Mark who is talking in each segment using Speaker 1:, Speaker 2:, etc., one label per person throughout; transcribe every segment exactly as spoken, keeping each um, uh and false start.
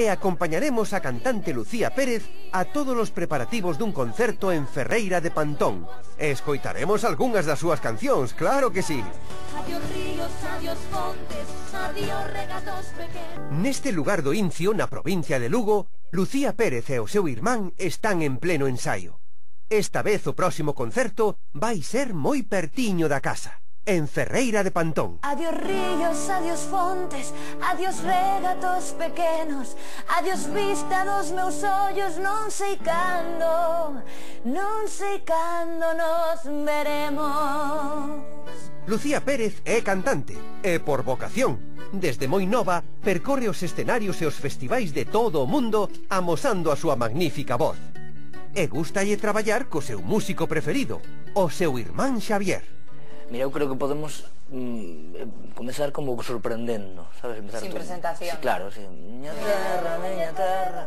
Speaker 1: e acompañaremos a cantante Lucía Pérez a todos os preparativos dun concerto en Ferreira de Pantón. E escoitaremos algunhas das súas cancións, claro que sí.
Speaker 2: Adiós ríos, adiós fontes, adiós regatos pequenos.
Speaker 1: Neste lugar do Incio, na provincia de Lugo, Lucía Pérez e o seu irmán están en pleno ensaio. Esta vez o próximo concerto vai ser moi pertiño da casa, en Ferreira de Pantón.
Speaker 2: Adiós ríos, adiós fontes, adiós regatos pequenos, adiós vista dos meus ollos, non sei cando, non sei cando nos veremos.
Speaker 1: Lucía Pérez é cantante, e por vocación, desde moi nova, percorre os escenarios e os festivais de todo o mundo amosando a súa magnífica voz. E gustalle traballar co seu músico preferido, o seu irmán Xavier.
Speaker 3: Mira, eu creo que podemos mm, comezar como sorprendendo, sabes? Empezar
Speaker 4: Sin
Speaker 3: tú.
Speaker 4: presentación.
Speaker 3: Sí, claro, sí. Miña terra, miña terra.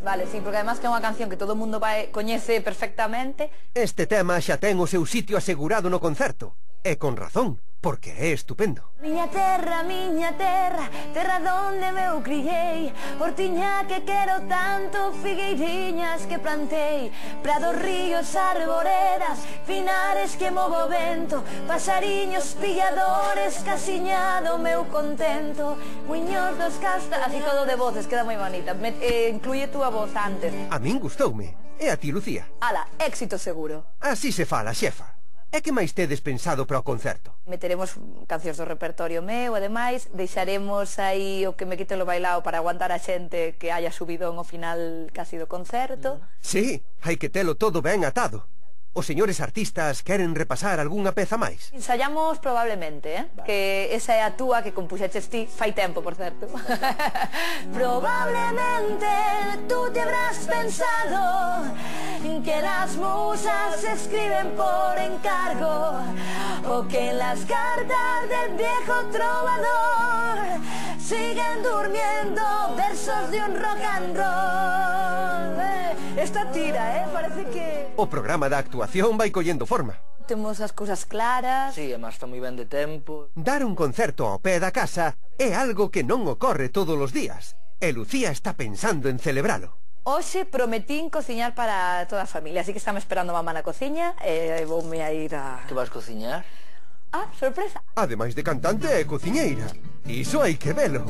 Speaker 4: Vale, sí, porque además que é unha canción que todo o mundo vai, coñece perfectamente.
Speaker 1: Este tema xa ten o seu sitio asegurado no concerto, e con razón, porque é estupendo.
Speaker 2: Miña terra, miña terra, terra donde meu criei, hortiña que quero tanto, figueiriñas que plantei, prados, ríos, arboredas, pinares que movo vento, pasariños, pilladores, casiñado meu contento, muiños dos castas...
Speaker 4: Así todo de voces, queda moi bonita. Me, eh, incluye túa voz antes.
Speaker 1: A min gustoume, e a ti, Lucía?
Speaker 4: Ala, éxito seguro.
Speaker 1: Así se fala, xefa. E que máis tedes pensado para o concerto?
Speaker 4: Meteremos cancións do repertorio meu, ademais, deixaremos aí o que me quite lo bailao para aguantar a xente que haya subido ao final casi do concerto.
Speaker 1: Sí, hai que telo todo ben atado. Os señores artistas queren repasar algunha peza máis?
Speaker 4: Ensayamos probablemente, eh? Vale. Que esa é a túa que compuxeches ti fai tempo, por certo.
Speaker 2: Probablemente tú te habrás pensado que las musas se escriben por encargo, o que en las cartas del viejo trovador siguen durmiendo versos de un rock and roll.
Speaker 4: Eh, esta tira, eh? Parece que...
Speaker 1: O programa da actuación vai collendo forma.
Speaker 4: Temos as cousas claras.
Speaker 3: Sí, además está moi ben de tempo.
Speaker 1: Dar un concerto ao pé da casa é algo que non ocorre todos os días, e Lucía está pensando en celebralo.
Speaker 4: Hoxe prometín cociñar para toda a familia, así que estamos esperando a mamá na cociña e voume a ir a...
Speaker 3: Que vas cociñar?
Speaker 4: Ah, sorpresa.
Speaker 1: Ademais de cantante e cociñeira. Iso hai que velo.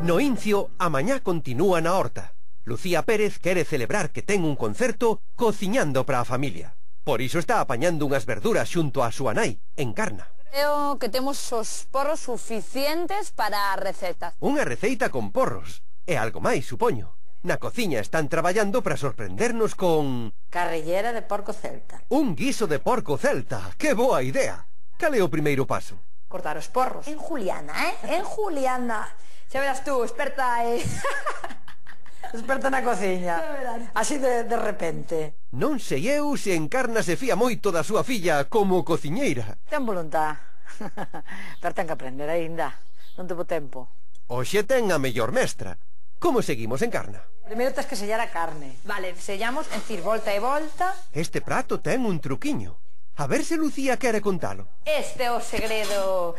Speaker 1: No Incio, a mañá continúa na horta. Lucía Pérez quere celebrar que ten un concerto cociñando para a familia. Por iso está apañando unhas verduras xunto á súa nai, Encarna.
Speaker 4: Creo que temos os porros suficientes para a receta.
Speaker 1: Unha receita con porros. E algo máis, supoño. Na cociña están traballando para sorprendernos con...
Speaker 5: Carrillera de porco celta.
Speaker 1: Un guiso de porco celta. Que boa idea. Cal é o primeiro paso?
Speaker 4: Cortar os porros.
Speaker 5: En Juliana, eh? En Juliana.
Speaker 4: Xa verás tú, experta, eh...
Speaker 5: experta na cociña. Así de, de repente.
Speaker 1: Non sei eu se Encarna se fía moito da súa filla como cociñeira.
Speaker 5: Ten voluntad. Pero ten que aprender aínda. Non tevo tempo.
Speaker 1: Oxe ten a mellor mestra. Como seguimos, Encarna?
Speaker 5: Primeiro tens que sellar a carne.
Speaker 4: Vale, sellamos, en decir, volta e volta.
Speaker 1: Este prato ten un truquiño. A ver se Lucía quere contalo.
Speaker 4: Este é o segredo.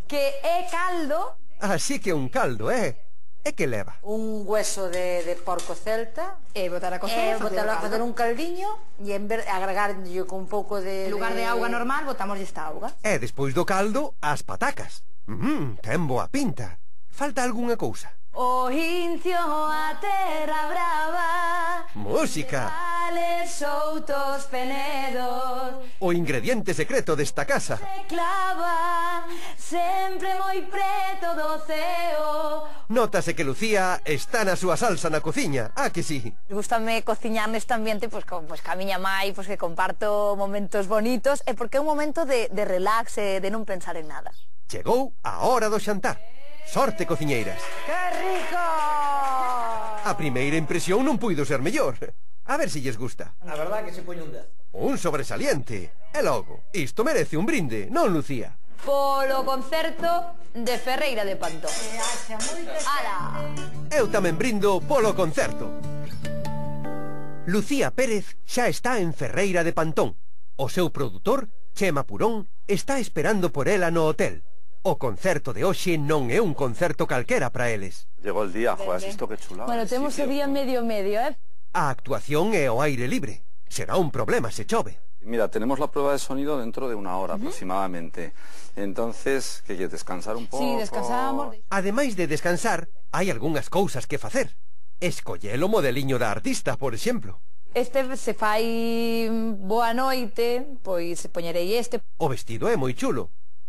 Speaker 4: Que é caldo.
Speaker 1: Así que un caldo, eh? E que leva?
Speaker 5: Un hueso de, de porco celta.
Speaker 4: E botar a
Speaker 5: E
Speaker 4: cocer.
Speaker 5: botar a facer un caldiño. E en ver, agregarlle con un pouco de...
Speaker 4: En lugar de, de auga normal, botamos esta auga.
Speaker 1: E despois do caldo, as patacas. Mmm, ten boa pinta. Falta algunha cousa.
Speaker 2: O Incio, a terra brava,
Speaker 1: Música.
Speaker 2: Vales soutos penedos,
Speaker 1: O ingrediente secreto desta casa.
Speaker 2: se clava sempre moi preto do ceo.
Speaker 1: Nótase que Lucía está na súa salsa na cociña, ah que sí?
Speaker 4: Gústame cociñar neste ambiente, pois, con, pois, ca miña mai, pois, que comparto momentos bonitos, e porque é un momento de, de relax e de non pensar en nada.
Speaker 1: Chegou a hora do xantar. Sorte, cociñeiras.
Speaker 5: ¡Qué rico!
Speaker 1: A primeira impresión non puido ser mellor. A ver se lles gusta.
Speaker 3: A verdad que se poñe un dez.
Speaker 1: Un sobresaliente. E logo, isto merece un brinde, non, Lucía?
Speaker 4: Polo concerto de Ferreira de Pantón. Ala!
Speaker 1: Eu tamén brindo polo concerto. Lucía Pérez xa está en Ferreira de Pantón. O seu produtor, Chema Purón, está esperando por ela no hotel. O concerto de hoxe non é un concerto calquera para eles.
Speaker 6: Llegó el día, joder, has visto qué chulada.
Speaker 4: Bueno, temos o día medio medio, eh?
Speaker 1: A actuación é ao aire libre. Será un problema se chove.
Speaker 6: Mira, tenemos la prueba de sonido dentro de una hora uh-huh. aproximadamente. Entonces, ¿qué quieres? ¿Descansar un pouco?
Speaker 4: Sí, descansamos.
Speaker 1: Ademais de descansar, hai algunhas cousas que facer. Escoller o modeliño da artista, por exemplo.
Speaker 4: Este se fai boa noite, pois poñerei este.
Speaker 1: O vestido é moi chulo.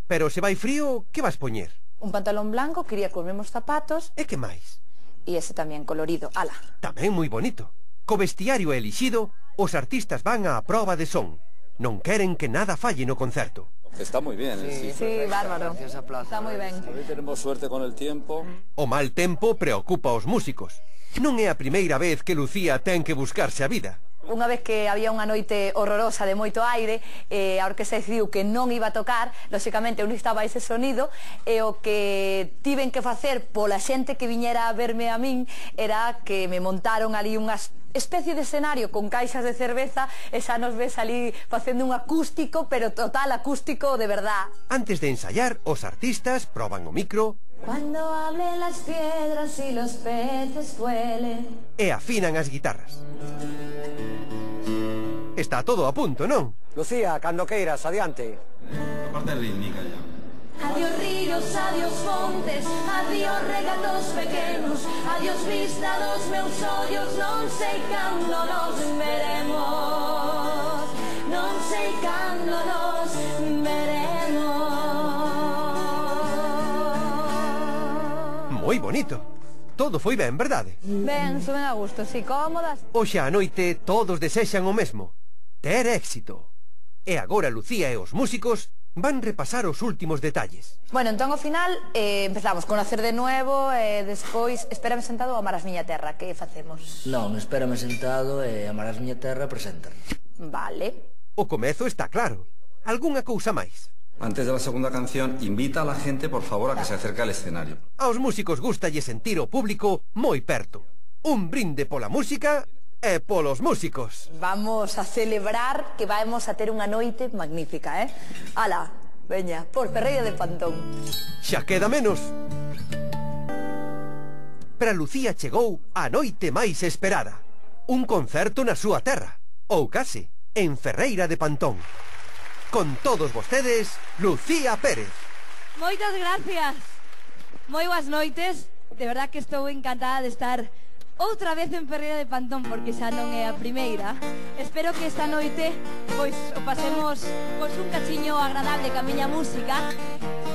Speaker 1: Pero se vai frío, que vas poñer?
Speaker 4: Un pantalón blanco, quería cos mesmos zapatos.
Speaker 1: E que máis?
Speaker 4: E ese tamén colorido, ala.
Speaker 1: Tamén moi bonito. Co vestiario elixido, os artistas van á proba de son. Non queren que nada falle no concerto.
Speaker 6: Está moi bien,
Speaker 3: Sí,
Speaker 6: sí.
Speaker 4: Sí, bárbaro. Está moi ben.
Speaker 6: Hoy tenemos suerte con el tiempo.
Speaker 1: O mal tempo preocupa aos músicos. Non é a primeira vez que Lucía ten que buscarse a vida.
Speaker 4: Unha vez que había unha noite horrorosa de moito aire, eh, a orquesta decidiu que non iba a tocar, lóxicamente eu non estaba ese sonido, e o que tiven que facer pola xente que viñera a verme a min era que me montaron ali unha especie de escenario con caixas de cerveza e xa nos ves ali facendo un acústico, pero total acústico de verdad.
Speaker 1: Antes de ensayar, os artistas proban o micro.
Speaker 2: Cuando hablen las piedras y los peces vuelen.
Speaker 1: E afinan as guitarras. Está todo a punto, non?
Speaker 7: Lucía, cando queiras, adiante.
Speaker 6: La parte rítmica ya.
Speaker 2: Adiós ríos, adiós fontes, adiós regatos pequenos, adiós vista dos meus ollos, non sei cando nos veremos, non sei cando nos veremos.
Speaker 1: Moi bonito. Todo foi ben, verdade?
Speaker 4: Ben, suben a gusto, si, cómodas.
Speaker 1: Hoxe á noite todos desexan o mesmo. Ter éxito. E agora Lucía e os músicos van repasar os últimos detalles.
Speaker 4: Bueno, entón ao final eh, empezamos con Nacer de Nuevo e eh, despois Espérame sentado ou Amarás miña terra. Que facemos?
Speaker 3: Non, Espérame sentado e Amarás miña terra presentan.
Speaker 4: Vale.
Speaker 1: O comezo está claro. Algunha cousa máis?
Speaker 6: Antes de la segunda canción, invita a la gente, por favor, a que se acerque al escenario.
Speaker 1: Aos músicos gustalle sentir o público moi perto. Un brinde pola música e polos músicos.
Speaker 4: Vamos a celebrar que vamos a ter unha noite magnífica, eh? Ala, veña, por Ferreira de Pantón.
Speaker 1: Xa queda menos. Para Lucía chegou a noite máis esperada. Un concerto na súa terra. Ou case, en Ferreira de Pantón. Con todos vostedes, Lucía Pérez.
Speaker 8: Moitas gracias. Moi boas noites. De verdad que estou encantada de estar outra vez en Ferreira de Pantón, porque xa non é a primeira. Espero que esta noite pois o pasemos pois un cachiño agradable ca miña música.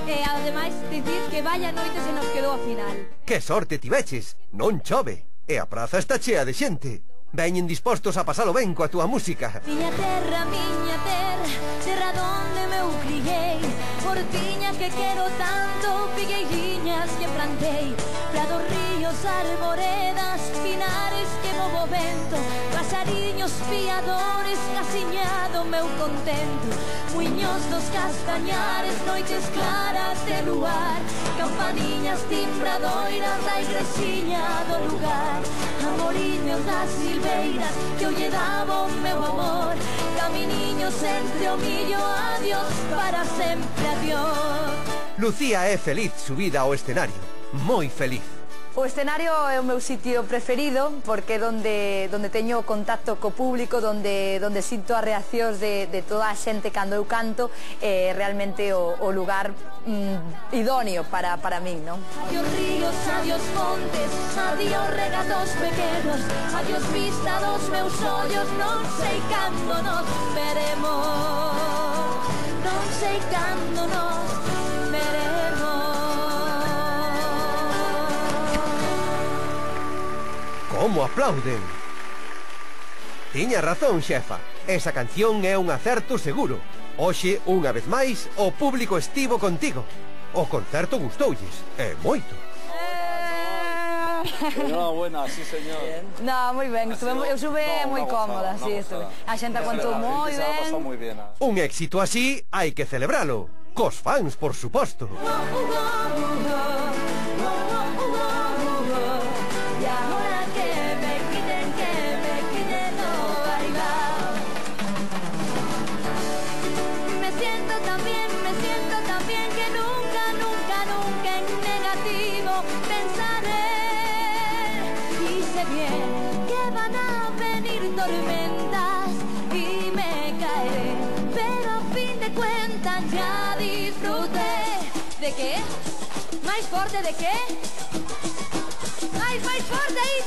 Speaker 8: E ademais dicir que vaya noite se nos quedou a final.
Speaker 1: Que sorte tiveches, non chove. E a praza está chea de xente. Veñen dispostos a pasalo ben coa túa música.
Speaker 2: Miña terra, miña terra, terra donde meu criei, portiña que quero tanto, figueiriñas que plantei, prados, ríos, arboredas, pinares que movo vento, pasariños piadores, casiñado meu contento, muiños dos castañares, noites claras de luar, campaniñas timbradoiras da igresiña do lugar, amoriños das silveiras que eu lle daba o meu amor, caminiños entre o millo, adiós para sempre, adiós.
Speaker 1: Lucía é feliz subida ao escenario. Moi feliz.
Speaker 4: O escenario é o meu sitio preferido porque é donde, donde teño contacto co público, donde, donde sinto as reaccións de, de toda a xente cando eu canto, é eh, realmente o, o lugar mm, idóneo para, para min, non?
Speaker 2: Adiós ríos, adiós montes, adiós regatos pequenos, adiós vista dos meus ollos, non sei cando nos veremos, non sei cando nos veremos.
Speaker 1: Como aplauden. Tiña razón, xefa. Esa canción é un acerto seguro. Hoxe, unha vez máis, o público estivo contigo. O concerto gustoulles, e moito.
Speaker 6: Enhorabuena, sí, señor.
Speaker 4: No, moi ben, estuve, eu estuve
Speaker 6: No,
Speaker 4: moi
Speaker 6: una
Speaker 4: cómoda,
Speaker 6: gozada,
Speaker 4: sí,
Speaker 6: una
Speaker 4: estuve.
Speaker 6: gozada.
Speaker 4: A xente aguantou
Speaker 6: La
Speaker 4: moi
Speaker 6: gente se la ha pasado
Speaker 4: ben.
Speaker 6: muy bien.
Speaker 1: Un éxito así hai que celebralo. Cos fans, por suposto.
Speaker 2: Y ahora que me quiten, que me quiten lo bailado. Me siento tan bien, me siento tan bien que nunca, nunca van a venir tormentas y me caeré, pero a fin de cuentas ya disfruté.
Speaker 8: De qué? Máis forte de qué? Máis, máis forte aí.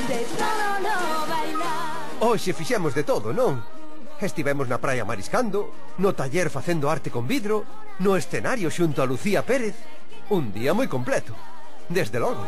Speaker 2: De todo no bailar.
Speaker 1: Hoxe fixemos de todo, non? Estivemos na praia mariscando, no taller facendo arte con vidro, no escenario xunto a Lucía Pérez. Un día moi completo, desde logo.